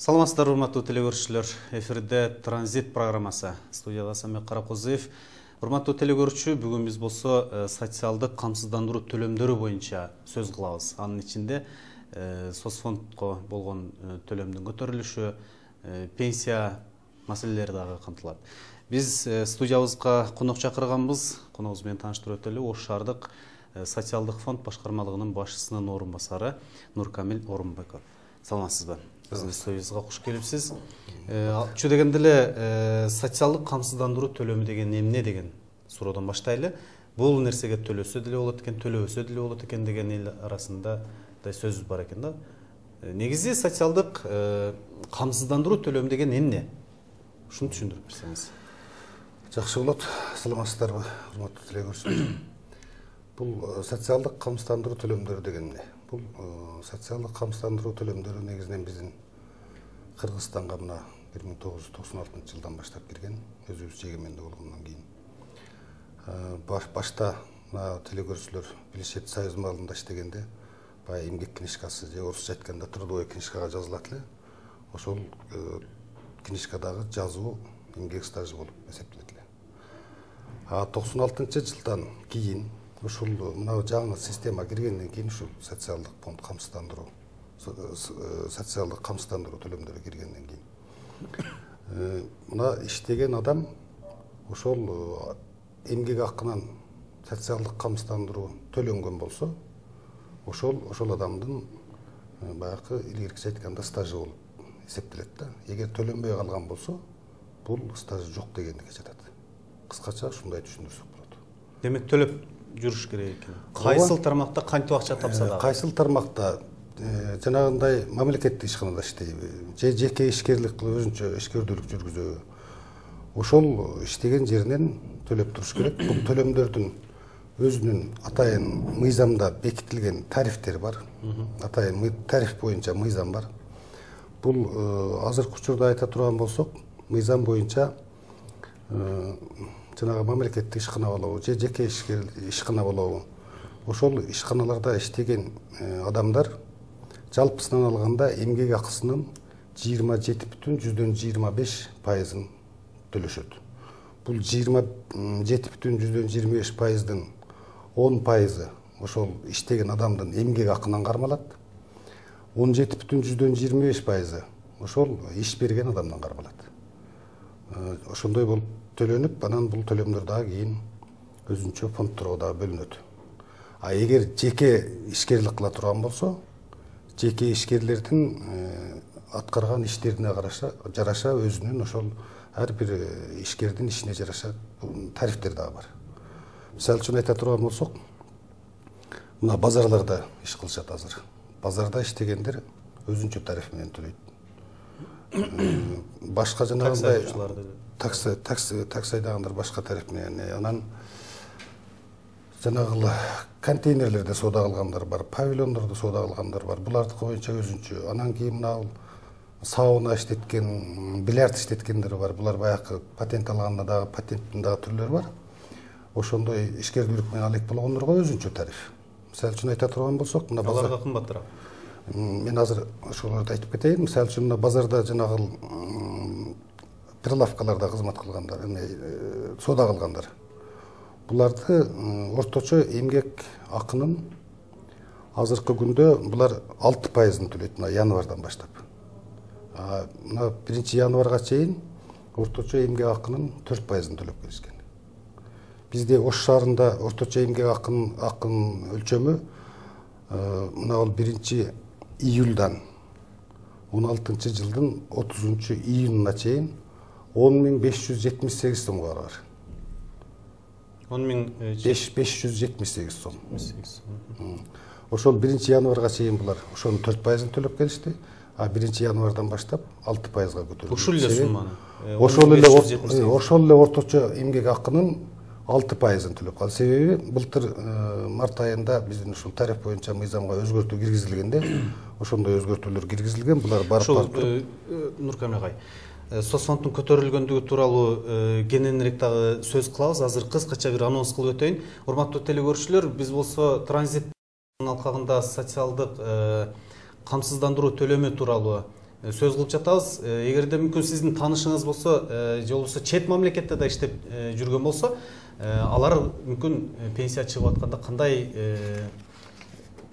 Саламатсыздар, урматтуу телекөрүүчүлөр. Эфирде Транзит программасы. Студияда Самек Каракозуев. Урматтуу телекөрүүчү, бүгүн биз болсо социалдык камсыздандыруу төлөмдөрү боюнча сөз кылабыз. Анын ичинде соцфондко болгон төлөмдүн көтөрүлүшү, пенсия маселелери дагы камтылат. Биз студиябызга конок чакырганбыз. Коногубуз менен тааныштырып өтөлү. Ош шаардык социалдык фонд башкармалыгынын башчысынын орун басары Нуркамил Орунбеков. Саламатсызбы? Биздин студиябызга куш келипсиз. Чү дегенде эле социалдык камсыздандыруу төлөмү деген эмне деген суроодон баштайлы. Бул нерсеге төлөсө деле болот экен, төлөбөсө деле болот экен деген эл арасында да сөз бар экен да. Негизи социалдык камсыздандыруу төлөмү деген эмне? Ушуну түшүндүрүп берсеңиз. Жакшы болот. Саламатсыздарбы, урматтуу телекөрүүчүлөр. Бул социалдык камсыздандыруу төлөмдөрү деген эмне? Бул социалдык камсыздандыруу төлөмдөрү негизинен биздин Кыргызстанга мына 1996 жылдан баштап кирген, өзүбүз эгемендик болгондон кийин. Башта телекөрүүчүлөр билишет, Союз маалында иштегенде баягы эмгек книжкасы же орусча айтканда трудовой книжкага жазылат эле. Ошол книжкадагы жазуу эмгек стажы болуп эсептелет эле. 96-жылдан кийин ушул мына жаңы система киргенден кийин ушул социалдык фонд камсыздандыруу, социалдык камсыздандыруу төлөмдөрү киргенден кийин мына иштеген адам ошол эмгек акынан социалдык камсыздандыруу төлөнгөн болсо, ошол адамдын баягы илгеркиче айтканда стажы болуп эсептелет да. Эгер төлөнбөй калган болсо, бул стажы жок дегендикке жатат. Кыскача ушундай түшүндүрсөк болот. Демек төлөп жүрүш керек экен. Кайсыл тармакта кантип акча тапса да? Кайсыл тармакта жанагындай мамлекеттик ишканада иштейби же жеке ишкерлик кылып өзүнчө ишкердүүлүк жүргүзөбү, ошол иштеген жеринен төлөп туруш керек. Бул төлөмдөрдүн өзүнүн атайын мыйзамда бекитилген тарифтери бар. Атайын тариф боюнча мыйзам бар. Бул азыркы учурда айта турган болсок, мыйзам боюнча жанагы мамлекеттик ишкана болобу же жеке ишкана болобу, ошол ишканаларда иштеген адамдар жалпысынан алганда эмгек акысынын 27,25%-ын төлөшөт. Бул 27,25%-дын 10% ошол иштеген адамдын эмгек акынан кармалат. 17,25% ошол иш берген адамдан кармалат. Ошондой болуп төлөнүп, анан бул төлөмдөр дагы кийин өзүнчө фондторго дагы бөлүнөт. Эгер жеке ишкерлик кыла турган болсо, жеке ишкерлердин аткарган иштерине жараша өзүнүн ошол ар бир ишкердин ишине жараша тарифтер дагы бар. Мисалы үчүн айта турган болсок, мына базарларда иш кылышат азыр. Базарда иштегендер өзүнчө тариф менен төлөйт. Башка жанагындай такси айдагандар башка тариф менен, анан жанагы контейнерлерде соода кылгандар бар, павильондордо соода кылгандар бар. Булардыкы боюнча өзүнчө. Анан кийин мына сауна иштеткен, бильярд иштеткендер бар. Булар баягы патент алганда дагы патенттин дагы түрлөрү бар. Ошондой ишкердүүлүк менен алек болгондорго өзүнчө тариф. Мисалы үчүн айта турган болсок, мына аларга кымбатыраак. Мен азыр ошолорду айтып кетейин. Мисалы үчүн мына базарда жанагы прилавкаларда кызмат кылгандар, соода кылгандар. Буларды орточо эмгек акынын азыркы күндө булар 6%-ын төлөйт, мына январдан баштап. Мына 1-январга чейин орточо эмгек акынын 4%-ын төлөп келишкен. Бизде Ош шаарында орточо эмгек акынын өлчөмү мына ол 1-июлдан 16-жылдын 30-июнуна чейин 10.578 сомго барар. 10.578 сом. Ошол 1-январга чейин булар ошонун 4%-ын төлөп келишти, а 1-январдан баштап 6%-га көтөрүлдү. Ушул эле сумманы. Ошол эле орточо эмгек акынын 6%-ын төлөп калды. Себеби былтыр март айында биздин ушул тариф боюнча мыйзамга өзгөртүү киргизилгенде, ошондой өзгөртүүлөр киргизилген. Булар барып Нуркамил агай, соцфонддун көтөрүлгөндүгү тууралуу кененирээк дагы сөз кылабыз. Азыр кыскача бир анонс кылып өтөйүн. Урматтуу телекөрүүчүлөр, биз болсо Транзит алкагында социалдык камсыздандыруу төлөмү тууралуу сөз кылып жатабыз. Эгерде мүмкүн сиздин таанышыңыз болсо, же болбосо чет мамлекетте да иштеп жүргөн болсо, алар мүмкүн пенсия чыгып атканда кандай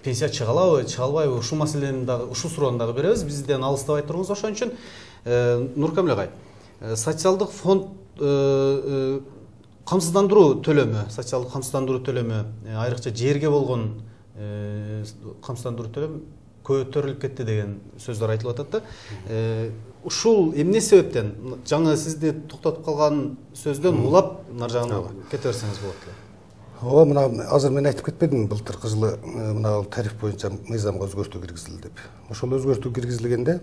пенсия чыга алабы, чыга албайбы? Ушул маселени дагы, ушул суроону дагы беребиз. Бизден алыстабай туруңуз. Ошон үчүн Нуркамил агай, социалдык фонд камсыздандыруу төлөмү, социалдык камсыздандыруу төлөмү, айрыкча жерге болгон камсыздандыруу төлөмү көтөрүлүп кетти деген сөздөр айтылып атат да. Ушул эмне себептен? Жаңы сизди токтотуп калган сөздөн улап нар жагына кете берсеңиз болот эле. Ооба, мына азыр мен айтып кетпедимби, былтыркы жылы мына тариф боюнча мыйзамга өзгөртүү киргизилди деп. Ошол өзгөртүү киргизилгенде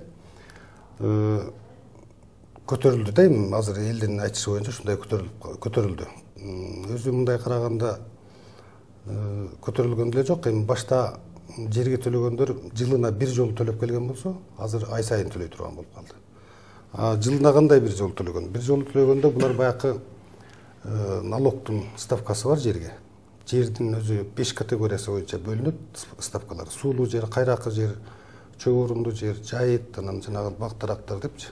көтөрүлдү да, эми азыр элдин айтышы боюнча ушундай көтөрүлдү. Өзү мындай караганда көтөрүлгөн деле жок. Эми башта жерге төлөгөндөр жылына бир жолу төлөп келген болсо, азыр ай сайын төлөй турган болуп калды. Жылына кандай бир жолу төлөгөн? Бир жолу төлөгөндө булар баягы налогтун ставкасы бар жерге. Жердин өзү 5 категориясы боюнча бөлүнөт ставкалар. Суулуу жер, кайракы жер, чөп орундуу жер, жайыт, анан жанагы бак-дарактар депчи.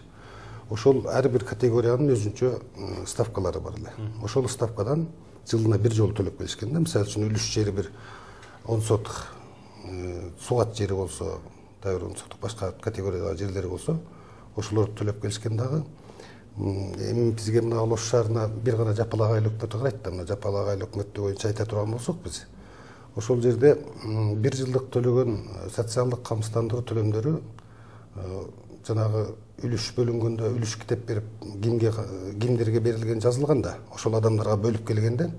Ошол ар бир категориянын өзүнчө ставкалары бар эле. Ошол ставкадан жылына бир жолу төлөп келишкен да. Мисалы үчүн үлүш жери бир 10 сотук, сугат жери болсо, дагы 10 сотук башка категориядагы жерлери болсо, ошолорду төлөп келишкен дагы. Эми бизге мына Ош шаарына бир гана Жапалак айыл өкмөтү карайт да, мына Жапалак айыл өкмөтү боюнча айта турган болсок биз, ошол жерде бир жылдык төлөгөн социалдык камсыздандыруу төлөмдөрү жанагы үлүш бөлүнгөндө үлүш китеп берип кимдерге берилген жазылган да, ошол адамдарга бөлүп келгенде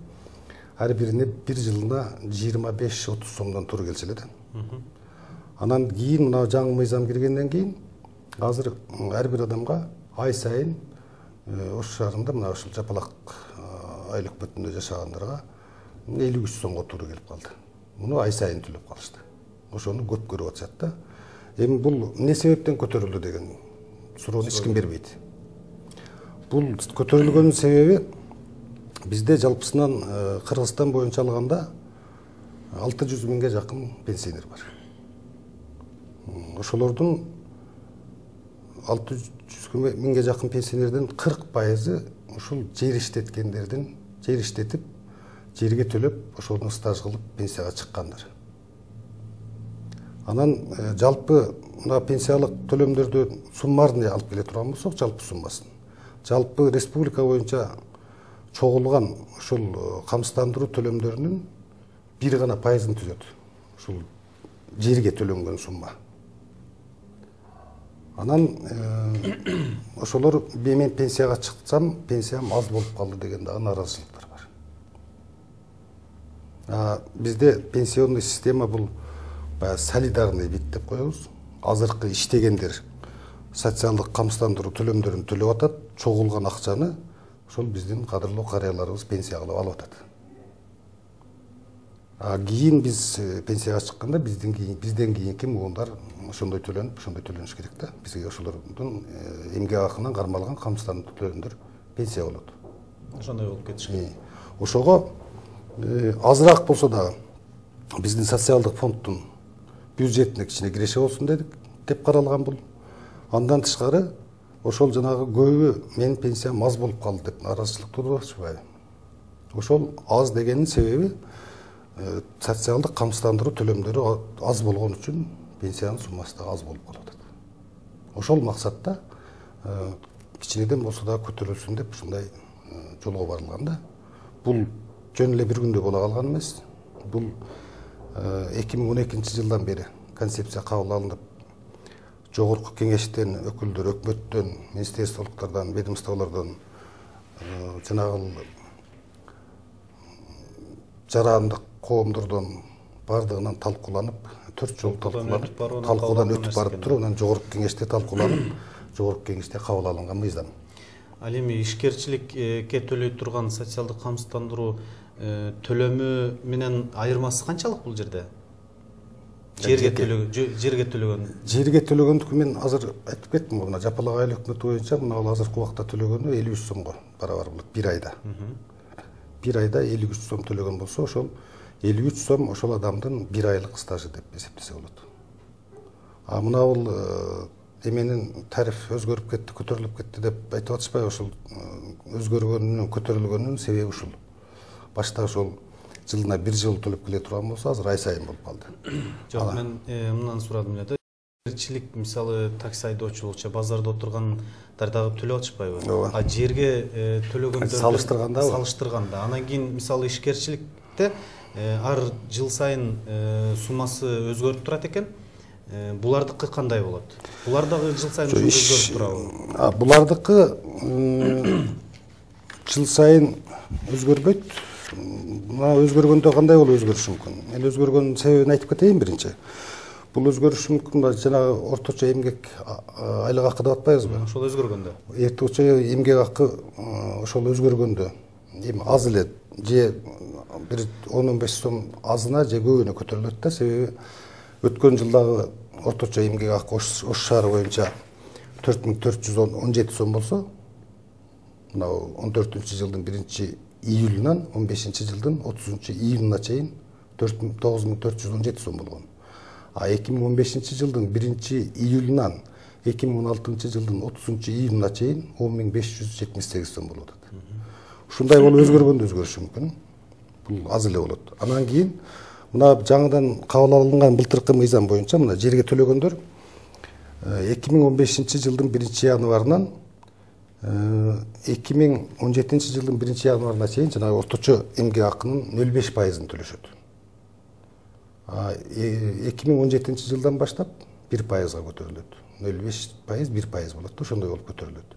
ар бирине бир жылына 25-30 сомдон туура келчү эле да. Анан кийин мына жаңы мыйзам киргенден кийин азыр ар бир адамга ай сайын Ош шаарында мына ушул Жапалак айыл өкмөтүндө жашагандарга 53 сомго туура келип калды. Муну ай сайын төлөп калышты. Ошону көп көрүп атышат да. Эми бул эмне себептен көтөрүлдү деген суроону эч ким бербейт. Бул көтөрүлгөнүн себеби бизде жалпысынан Кыргызстан боюнча алганда 600 миңге жакын пенсионер бар. Ошолордун 600 миңге жакын пенсионерден 40% ушул жер иштеткендердин, жер иштетип, жерге төлөп, ошону стаж кылып пенсияга чыккандар. Анан жалпы мына пенсиялык төлөмдөрдү суммарный алып келе турган болсок, жалпы суммасын. Жалпы республика боюнча чогулган ушул камсыздандыруу төлөмдөрүнүн бир гана пайызын түзөт. Ушул жерге төлөнгөн сумма. Анан ошолор мен пенсияга чыксам, пенсиям аз болуп калды деген дагы нааразычылыктар бар. Бизде пенсионный система бул солидарный вид деп коебуз. Азыркы иштегендер социалдык камсыздандыруу төлөмдөрүн төлөп атат, чогулган акчаны ошол биздин кадырлуу карыяларыбыз пенсия кылып алып атат. Кийин биз пенсияга чыкканда бизден кийинки муундар ошондой төлөнүш керек да. Бизге ошолордун эмгек акынан кармалган камсыздандыруу төлөмдөр пенсия болот. Ошондой болуп кетишкен. Ошого азыраак болсо дагы биздин социалдык фонддун бюджетине кичине киреше болсун деп каралган бул. Андан тышкары ошол жанагы көбү менин пенсиям аз болуп калды деп нааразычылык туудуруп атышпайбы? Ошол аз дегенин себеби социалдык камсыздандыруу төлөмдөрү аз болгон үчүн пенсиянын суммасы да аз болуп калып атат. Ошол максатта кичинеден болсо да көтөрүлсүн деп ушундай жолго барылган да. Бул жөн эле бир күндө боло калган эмес. Бул 2012 жылдан бери концепция кабыл алынып, жогорку кеңештен өкүлдөр, өкмөттөн, министрликтардан, ведомстволордон жанагы жарандык коомдордон бардыгынан талкууланып, 4 жол талкуудан өтүп барып туруп, анан жогорку кеңеште талкууланып, жогорку кеңеште кабыл алынган мыйзам. Ал эми ишкерчиликке төлөй турган социалдык камсыздандыруу төлөмү менен айырмасы канчалык бул жерде? Жерге төлөгөн. Жерге төлөгөндүкү мен азыр айтып кеттим, мына Жапалак айыл өкмөтү боюнча мына азыркы убакта төлөгөнү 53 сомго барабар болот бир айда. Бир айда 53 сом төлөгөн болсо, ошол 53 сом ошол адамдын бир айлык стажы деп эсептесе болот. Мына бул эменин тариф өзгөрүп кетти, көтөрүлүп кетти деп айтып атышпайбы? Ошол өзгөргөнүнүн, көтөрүлгөнүнүн себеби ушул. Башта ошол жылына 1 жыл төлөп келе турган болсо, азыр ай сайын болуп калды. Жок, мен мындан сурадым эле да. Ээрчилик, мисалы, такси айдоочулукча базарда отургандар дагы төлөп атышпайбы? А жерге төлөгөндөр салыштырганда, анан кийин мисалы ишкерчиликте ар жыл сайын суммасы өзгөрүп турат экен. Булардыкы кандай болот? Булар дагы жыл сайын өзгөрүп турабы? Булардыкы жыл сайын өзгөрбөйт. Мына өзгөргөндө кандай болуп өзгөрүшү мүмкүн? Мен өзгөргөнүн себебин айтып кетейин биринчи. Бул өзгөрүшү мүмкүн жанагы орточо эмгек айлык акы деп атпайбызбы? Ошол өзгөргөндө. Орточо эмгек акы ошол өзгөргөндө эми аз эле же бир 10-15 сом азына же көбүнө көтөрүлөт да, себеби өткөн жылдагы орточо эмгек акы Ош шаары боюнча 4417 сом болсо, мына 14-жылдын 1-июлунан 15-жылдын 30-июнуна чейин 9417 сом болгон. А 2015-жылдын 1-июлунан 2016-жылдын 30-июнуна чейин 10578 сом болуп атат. Ушундай болуп өзгөргөндө өзгөрүшү мүмкүн. Бул аз эле болот. Анан кийин мына жаңыдан кабыл алынган былтыркы мыйзам боюнча мына жерге төлөгөндөр 2015-жылдын 1-январынан 2017-жылдын 1-январына чейин жанагы орточо эмгек акынын 0,5%-ын төлөшөт. 2017-жылдан баштап 1%га көтөрүлөт. 0,5% 1% болот да, ошондой болуп көтөрүлөт.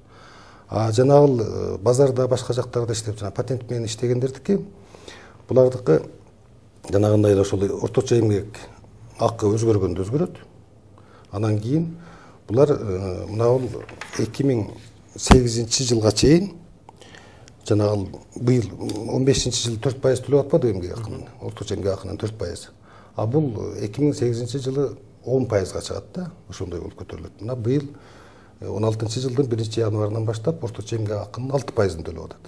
Жанагы базарда башка жактарда иштеп жана патент менен иштегендердики, булардыкы жанагындай эле ошол орточо эмгек акы өзгөргөндө өзгөрөт. Анан кийин булар мына 2008-жылга чейин жанагы быйыл 15-жылы 4% төлөп атпады эмгек акынын, орточо эмгек акынын 4%. А бул 2008-жылы 10%га чыгат да, ошондой болуп көтөрүлөт. Мына быйыл 16-жылдын 1-январынан баштап орточо эмгек акынын 6%-ын төлөп атат.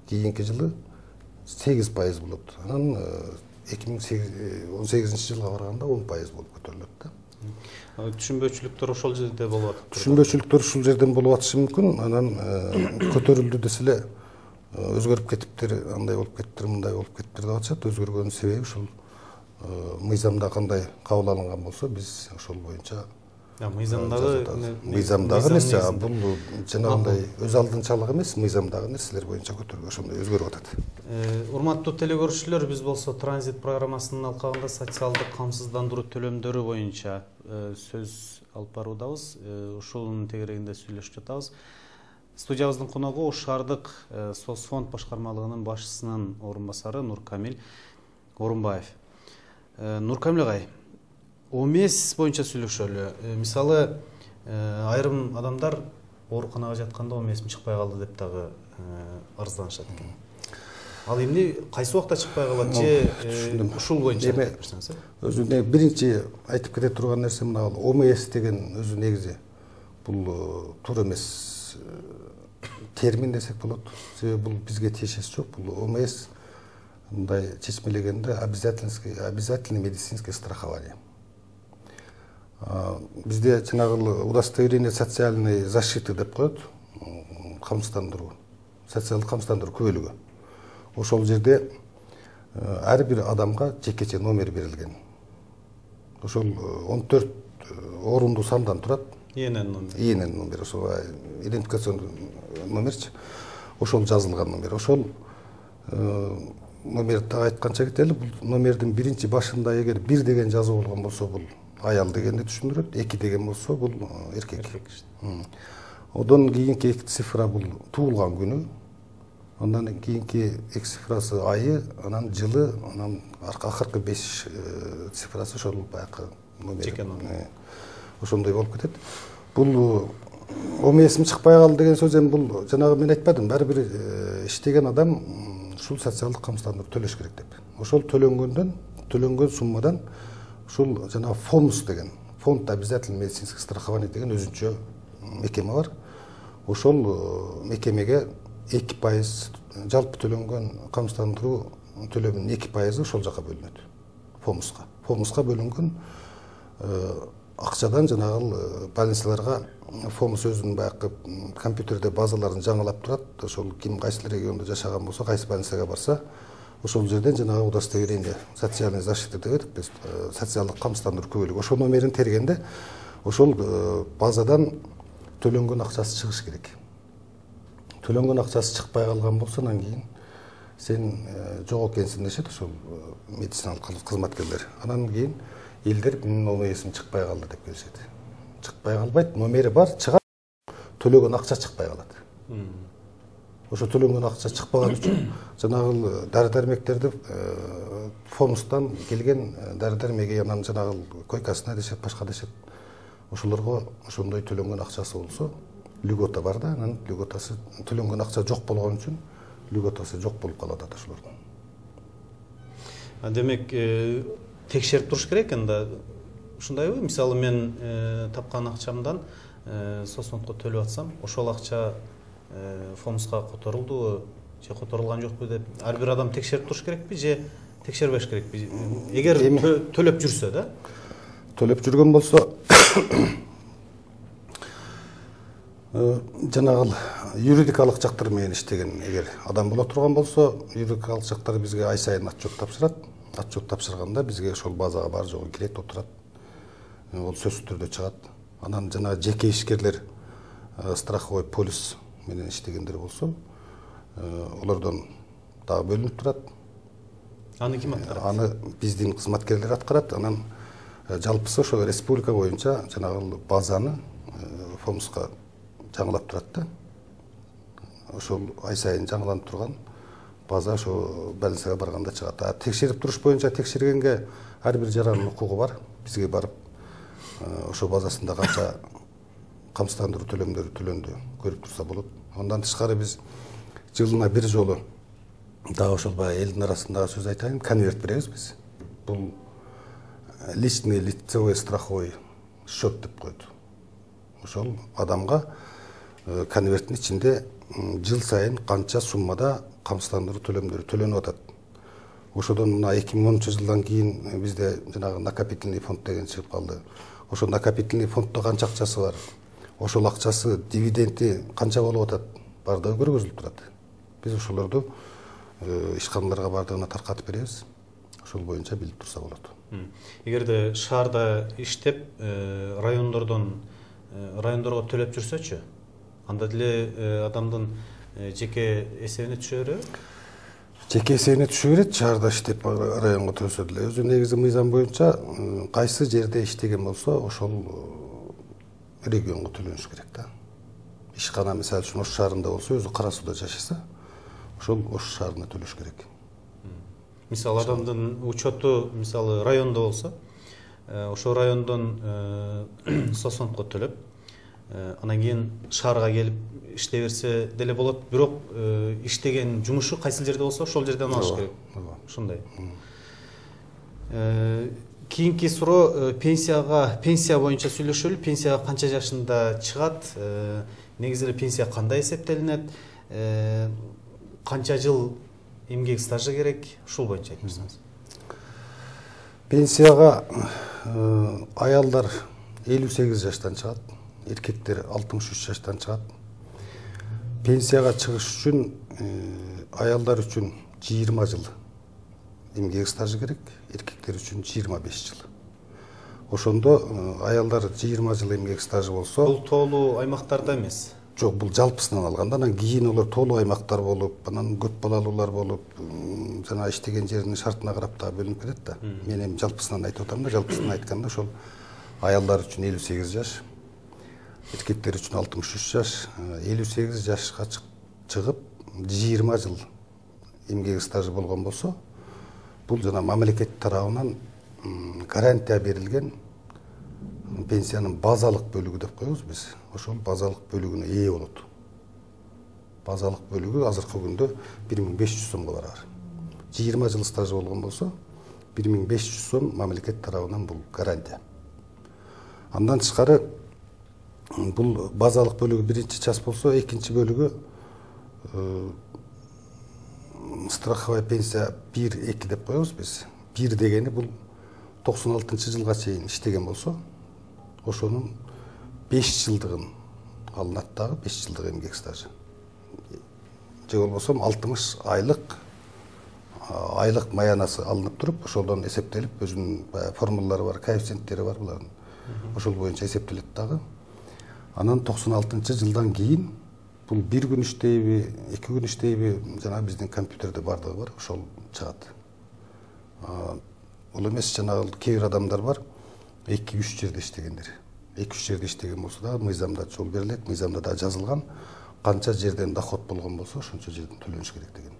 Кийинки жылы 8% болот. Анан 2018-жылга барганда 10% болуп көтөрүлөт да. Түшүнбөчүлүктөр ошол жерде болуп атат. Түшүнбөчүлүктөр ушул жерден болуп атышы мүмкүн. Анан көтөрүлдү десе эле өзгөрүп кетиптир, андай болуп кеттир, мындай болуп кеттир деп атышат. Өзгөргөнүн себеби ушул мыйзамда кандай кабыл алынган болсо, биз ошол боюнча мыйзамдагы эмес, бул жанагындай өз алдынчалык эмес, мыйзамдагы нерселер боюнча көтөргө ошондой өзгөрүп атат. Урматтуу телекөрүүчүлөр, биз болсо транзит программасынын алкагында социалдык камсыздандыруу төлөмдөрү боюнча сөз алып баруудабыз. Ушунун тегерегинде сүйлөшүп жатабыз. Студиябыздын коногу Ош шаардык соцфонд башкармалыгынын башчысынын орун басары Нуркамил Орунбаев. Нуркамил агай, ОМС боюнча сүйлөшөлү. Мисалы, айрым адамдар ооруканага жатканда ОМС чыкпай калды деп дагы арызданышат экен. Ал эмне кайсы убакта чыкпай калат же ушул боюнча айтып берсеңиз? Өзү биринчи айтып кете турган нерсе мына ОМС деген өзү негизи бул туура эмес термин десек болот. Себеби бул бизге тиешеси жок. Бул ОМС мындай чечмелегенде обязательный медицинское страхование. Бизде жанагы удостоверение социальной защиты деп коет, камсыздандыруу, социалдык камсыздандыруу күбөлүгү. Ошол жерде ар бир адамга жекече номер берилген. Ошол 14 орундуу сандан турат. ИНН номер, ошол идентификационный номерчи. Ошол жазылган номер. Ошол номерди айтканча кетели, бул номердин биринчи башында эгер 1 деген жазуу болгон болсо, бул аял дегенди түшүндүрөт, 2 деген болсо бул эркек. Одон кийинки 2 цифра бул туулган күнү, андан кийинки 2 цифрасы айы, анан жылы, анан акыркы 5 цифрасы ошол баягы номер. Ошондой болуп кетет. Бул ОМС чыкпай калды деген сөз эми бул жанагы мен айтпадым, ар бир иштеген адам ушул социалдык камсыздандыруу төлөш керек деп. Ошол төлөнгөн суммадан ушул жана фонд деген, фонд обязательный медицинский страхование деген өзүнчө мекеме бар. Ошол мекемеге 2% жалпы төлөнгөн камсыздандыруу төлөмүнүн 2% ошол жака бөлүнөт. Фомуска бөлүнгөн акчадан жанагы больницаларга ФОМС өзүнүн баягы компьютерде базаларын жаңылап турат. Ошол ким кайсы региондо жашаган болсо, кайсы больницага барса, ошол жерден жанагы удостоверение, социальный защита деп атат биз, социалдык камсыздандыруу күбөлүгү. Ошол номерин тергенде ошол базадан төлөнгөн акчасы чыгыш керек. Төлөнгөн акчасы чыкпай калган болсо, анан кийин сен жок экенсиң дешет ошол медициналык кызматкерлер. Анан кийин элдер менин номерим чыкпай калды деп келишет. Чыкпай калбайт, номери бар, чыгат, төлөгөн акча чыкпай калат. Ошо төлөнгөн акча чыкпаган үчүн жанагы дары-дармектерди ФОМСтан келген дары-дармеги анан жанагы койкасына дешет, башка дешет. Ошолорго ошондой төлөнгөн акчасы болсо, льгота бар да, анан льготасы төлөнгөн акча жок болгон үчүн льготасы жок болуп калат ошолордун. Демек, текшерип туруш керек энди. Ушундайбы? Мисалы мен тапкан акчамдан соцфондко төлөп атсам, ошол акча ФОМСка которулдубу же которулган жокпу деп ар бир адам текшерип туруш керекпи же текшербеш керекпи? Эгер төлөп жүрсө да? Төлөп жүргөн болсо, жанагы юридикалык жактар менен иштеген эгер адам боло турган болсо, юридикалык жактар бизге ай сайын отчет тапшырат. Отчет тапшырганда бизге ошол базага бар жогу кирет, отурат. Ол сөзсүз түрдө чыгат. Анан жана жеке ишкерлер страховой полис менен иштегендер болсо, олордон дагы бөлүнүп турат. Аны ким аткарат? Аны биздин кызматкерлер аткарат. Анан жалпысы ошо республика боюнча жанагы базаны ФОМСка жаңылап турат да. Ошол ай сайын жаңыланып турган база ошо больницага барганда чыгат. Текшерип туруш боюнча текшергенге ар бир жарандын укугу бар. Бизге барып ошо базасында канча камсыздандыруу төлөмдөрү төлөндү көрүп турса болот. Андан тышкары биз жылына бир жолу дагы ошол баягы элдин арасындагы сөз айтайын, конверт беребиз биз. Бул личный лицевой страховой счет деп коет. Ошол адамга конверттин ичинде жыл сайын канча суммада камсыздандыруу төлөмдөрү төлөнүп атат. Ошодон мына 2010 жылдан кийин бизде жанагы накопительный фонд деген чыгып калды. Ошо накопительный фонддо канча акчасы бар, ошол акчасы дивиденди канча болуп атат, бардыгы көргөзүлүп турат. Биз ошолорду ишканаларга бардыгына таркатып беребиз. Ошол боюнча билип турса болот. Эгерде шаарда иштеп, райондорго төлөп жүрсөчү, анда деле адамдын жеке эсебине түшө береби? Жеке эсебине түшө берет, шаарда иштеп районго төлсө деле. Өзү негизи мыйзам боюнча кайсы жерде иштеген болсо, ошол регионго төлөнүш керек да. Ишкана мисалы үчүн Ош шаарында болсо, өзү Кара Сууда жашаса, ошол Ош шаарына төлөш керек. Мисалы адамдын учету мисалы райондо болсо, ошол райондон соцфондко төлөп, анан кийин шаарга келип иштей берсе деле болот, бирок иштеген жумушу кайсы жерде болсо ошол жерден алыш керек. Ушундай. Кийинки суроо пенсия боюнча сүйлөшөлү. Пенсияга канча жашында чыгат? Негизи эле пенсия кандай эсептелинет? Канча жыл эмгек стажы керек? Ушул боюнча айтып берсеңиз. Пенсияга аялдар 58 жаштан чыгат, эркектер 63 жаштан чыгат. Пенсияга чыгыш үчүн аялдар үчүн 20 жыл эмгек стажы керек, эркектер үчүн 25 жыл. Ошондо аялдар 20 жыл эмгек стажы болсо, бул тоолуу аймактарда эмес. Жок, бул жалпысынан алганда, анан кийин олар тоолуу аймактар болуп, анан көп балалуулар болуп, жана иштеген жеринин шартына карап да бөлүнүп кетет да. Мен эми жалпысынан айтып атам да, жалпысынан айтканда ошол аялдар үчүн 58 жаш, эркектер үчүн 63 жаш, 58 жашка чыгып 20 жыл эмгек стажы болгон болсо, бул жана мамлекет тарабынан гарантия берилген пенсиянын базалык бөлүгү деп коебуз биз. Ошол базалык бөлүгүнө ээ болот. Базалык бөлүгү азыркы күндө 1500 сомго барар. 20 жыл стажы болгон болсо, 1500 сом мамлекет тарабынан бул гарантия. Андан тышкары бул базалык бөлүгү биринчи час болсо, экинчи бөлүгү страховая пенсия 1-2 деп коебуз биз. 1 дегени бул 96 жылга чейин иштеген болсо, ошонун 5 жылдыгын алынат дагы, 5 жылдык эмгек стажы. Же болбосо 60 айлык маянасы алынып туруп, ошолдон эсептелип, өзүнүн формулалары бар, коэффициенттери бар булардын. Ошол боюнча эсептелет дагы. Анан 96-жылдан кийин бул 1 күн иштейби, 2 күн иштейби, жана биздин компьютерде бардыгы бар, ошол чыгат. Ол эмес, жанагы кээ бир адамдар бар, 2-3 жерде иштегендер. 2-3 жерде иштеген болсо да мыйзамда жол берилет, мыйзамда да жазылган, канча жерден доход болгон болсо, ошончо жерден төлөнүш керек деген.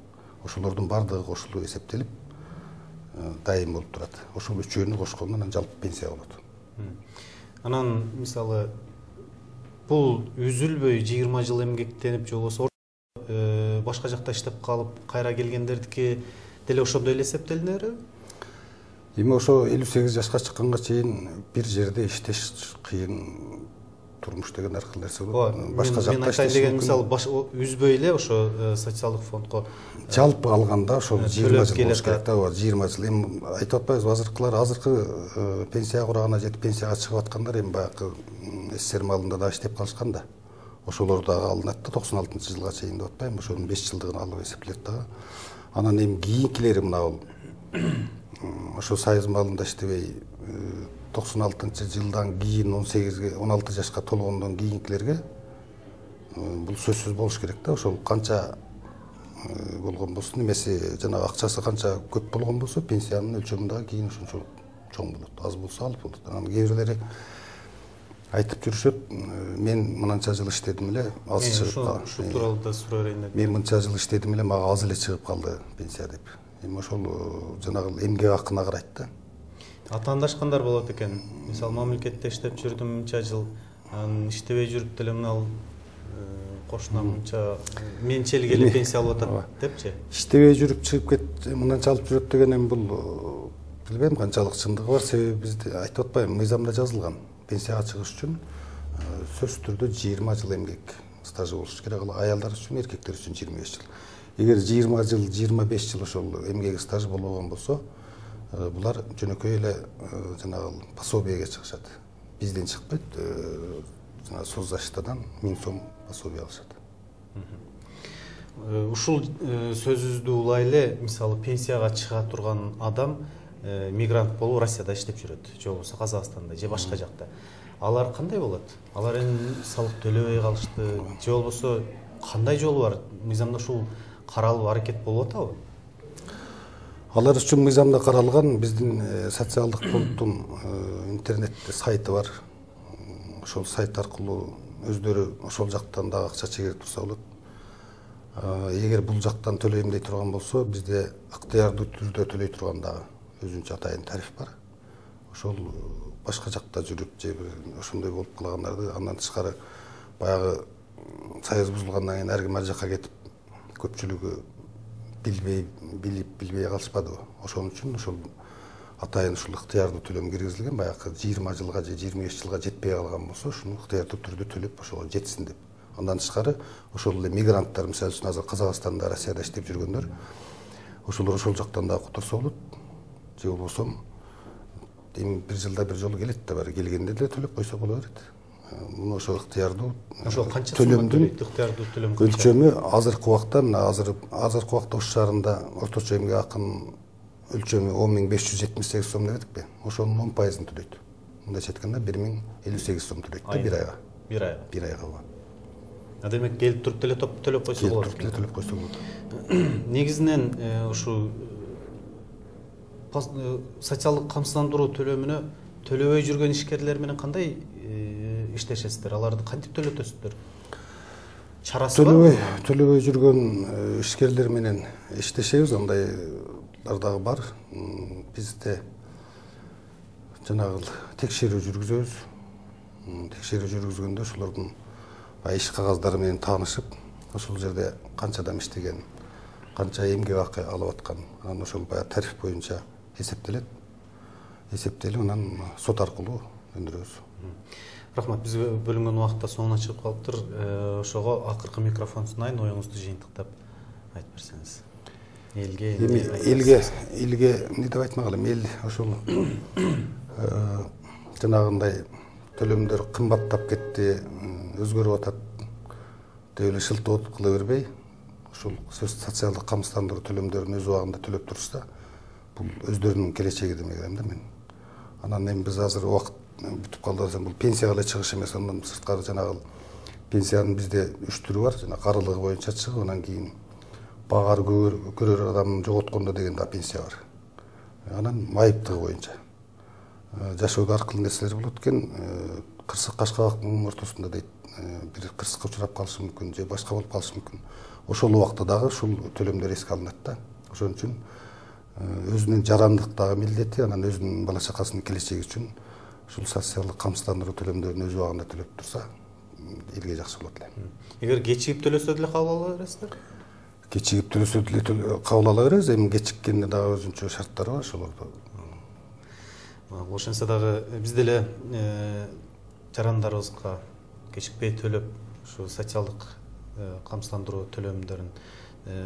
Ошолордун бардыгы кошулуп эсептелип, дайым болуп турат. Ошол үчөөнү кошкондо анан жалпы пенсия болот. Анан мисалы бул үзүлбөй 20 жыл эмгектенип же болбосо башка жакта иштеп калып кайра келгендердики деле ошондой эле эсептелинеби? Эми ошо 58 жашка чыкканга чейин бир жерде иштеш кыйын, турмуш деген ар кыл нерсе болот. Башка жакта иштеш деген мисалы үзбөй эле ошо социалдык фондко жалпы алганда ошол 20 жыл болуш керек да, 20 жыл. Эми айтып атпайбызбы, азыркы пенсия курагына жетип пенсияга чыгып аткандар эми баягы СССР малында да иштеп калышкан да. Ошолор дагы алынат да 96-жылга чейин деп атпайбы, ошонун 5 жылдыгын алып эсептелет дагы. Анан эми кийинкилери мына бул ошо союз малында иштебей 96-жылдан кийин 16 жашка толгондон кийинкилерге бул сөзсүз болуш керек да. Ошол канча болгон болсун, немесе жанагы акчасы канча көп болгон болсо, пенсиянын өлчөмү дагы кийин ошончо чоң болот. Аз болсо алып болот. Анан кээ бирлери айтып жүрүшөт, мен мынанча жыл иштедим эле, аз чыгып калды. Ушул тууралуу да сурайын деп. Мен мынча жыл иштедим эле, мага аз эле чыгып калды пенсия деп. Эми ошол жанагы эмгек акына карайт да. Атаандашкандар болот экен. Мисалы мамлекетте иштеп жүрдүм мынча жыл, анан иштебей жүрүп деле мына кошунам мынча менчел келип пенсия алып атат депчи. Иштебей жүрүп чыгып кет, мынанча алып жүрөт деген эми бул билбейм канчалык чындыгы бар. Себеби бизде айтып атпайбы, мыйзамда жазылган. Пенсияга чыгыш үчүн сөзсүз түрдө 20 жыл эмгек стажы болуш керек. Аялдар үчүн, эркектер үчүн 25 жыл. Эгер 20 жыл, 25 жыл ошол эмгек стажы болбогон болсо, булар жөнөкөй эле жанагы пособияга чыгышат. Бизден чыкпайт, жана соцзащитадан 1000 сом пособие алышат. Ушул сөзүбүздү улай эле, мисалы пенсияга чыга турган адам мигрант болуп Россияда иштеп жүрөт, же болбосо Казакстанда же башка жакта. Алар кандай болот? Алар эми салык төлөбөй калышты, же болбосо кандай жолу бар? Мыйзамда ушул каралып аракет болуп атабы? Алар үчүн мыйзамда каралган, биздин социалдык фонддун интернетте сайты бар. Ошол сайт аркылуу өздөрү ошол жактан дагы акча чегирип турса болот. Эгер бул жактан төлөйм дей турган болсо, бизде ыктыярдуу түрдө төлөй турган дагы өзүнчө атайын тариф бар. Ошол башка жакта жүрүп же ошондой болуп калгандарды, андан тышкары баягы союз бузулгандан кийин ар ким ар жакка кетип, көпчүлүгү билбей калышпадыбы. Ошон үчүн ошол атайын ушул ыктыярдуу төлөм киргизилген, баягы 20 жылга же 25 жылга жетпей калган болсо, ушуну ыктыярдуу түрдө төлөп ошого жетсин деп. Андан тышкары ошол эле мигранттар, мисалы үчүн азыр Казакстанда, Россияда иштеп жүргөндөр, ошолор ошол жактан да которсо болот. Же болбосо эми бир жылда бир жолу келет да, баары келгенде деле төлөп койсо боло берет. Муну ошо ыктыярдуу төлөмдүн өлчөмү азыркы убакта, мына азыркы убакта Ош шаарында орточо эмгек акынын өлчөмү 10.578 сом деп этикпи? Ошонун 10%-ын төлөйт. Мындайча айтканда 10.058 сом төлөйт да бир айга. Бир айга. Демек келип туруп деле төлөп койсо болот. Келип туруп деле төлөп койсо болот. Негизинен ушу социалдык камсыздандыруу төлөмүнө төлөбөй жүргөн ишкерлер менен кандай иштешесиздер? Аларды кантип төлөтөсүздөр? Чарасы бар? Төлөбөй жүргөн ишкерлер менен иштешебиз, андайлар дагы бар. Бизде жанагы текшерүү жүргүзөбүз. Текшерүү жүргүзгөндө ошолордун иш кагаздары менен таанышып, ошол жерде канча адам иштеген, канча эмгек акы алып аткан, анан ошол баягы тариф боюнча эсептелет. Эсептелип, анан сот аркылуу өндүрөбүз. Рахмат, биз бөлүнгөн убакытта соңуна чыгып калыптыр. Ошого акыркы микрофон сунайын, оюңузду жыйынтыктап айтып берсеңиз. Элге эмне деп айтмак элем? Эл ошол жанагындай төлөмдөр кымбаттап кетти, өзгөрүп атат деп эле шылтоо кыла бербей, ушул социалдык камсыздандыруу төлөмдөрүн өз убагында төлөп турса, бул өздөрүнүн келечеги деп ойлойм да мен. Анан эми биз азыр убакыт бүтүп калды десем, бул пенсияга эле чыгыш эмес, андан сырткары жанагы пенсиянын бизде 3 түрү бар, жана карылыгы боюнча чыгып, анан кийин багары көрөр адамын жоготкондо деген да пенсия бар. Анан майыптыгы боюнча жашоодо ар кылы нерселер болот экен, кырсык кашкабактын ортосунда дейт, бир кырсыкка учурап калышы мүмкүн же башка болуп калышы мүмкүн. Ошол убакта дагы ушул төлөмдөр эске алынат да. Ошон үчүн өзүнүн жарандыктагы милдети, анан өзүнүн бала чакасынын келечеги үчүн ушул социалдык камсыздандыруу төлөмдөрүн өз убагында төлөп турса, элге жакшы болот эле. Эгер кечигип төлөсө деле кабыл ала бересиздер? Кечигип төлөсө деле кабыл ала беребиз, эми кечиккенде дагы өзүнчө шарттары бар, ошолорду. Ошентсе дагы биз деле жарандарыбызга кечикпей төлөп, ушу социалдык камсыздандыруу төлөмдөрүн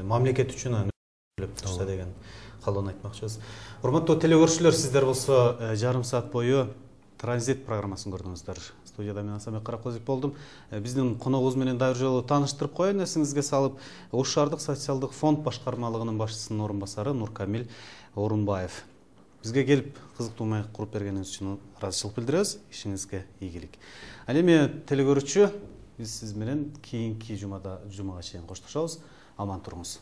мамлекет үчүн төлөп турса деген каалоону айтмакчыбыз. Урматтуу телекөрүүчүлөр, сиздер болсо жарым саат бою Транзит программасын көрдүңүздөр. Студияда мен Асамбек Каракозов болдум. Биздин коногубуз менен дагы бир жолу тааныштырып коеюн, эсиңизге салып, Ош шаардык социалдык фонд башкармалыгынын башчысынын орун басары Нуркамил Орунбаев. Бизге келип кызыктуу маек куруп бергениңиз үчүн ыраазычылык билдиребиз. Ишиңизге ийгилик. Ал эми телекөрүүчү, биз сиз менен кийинки жумага чейин коштошобуз. Аман туруңуз.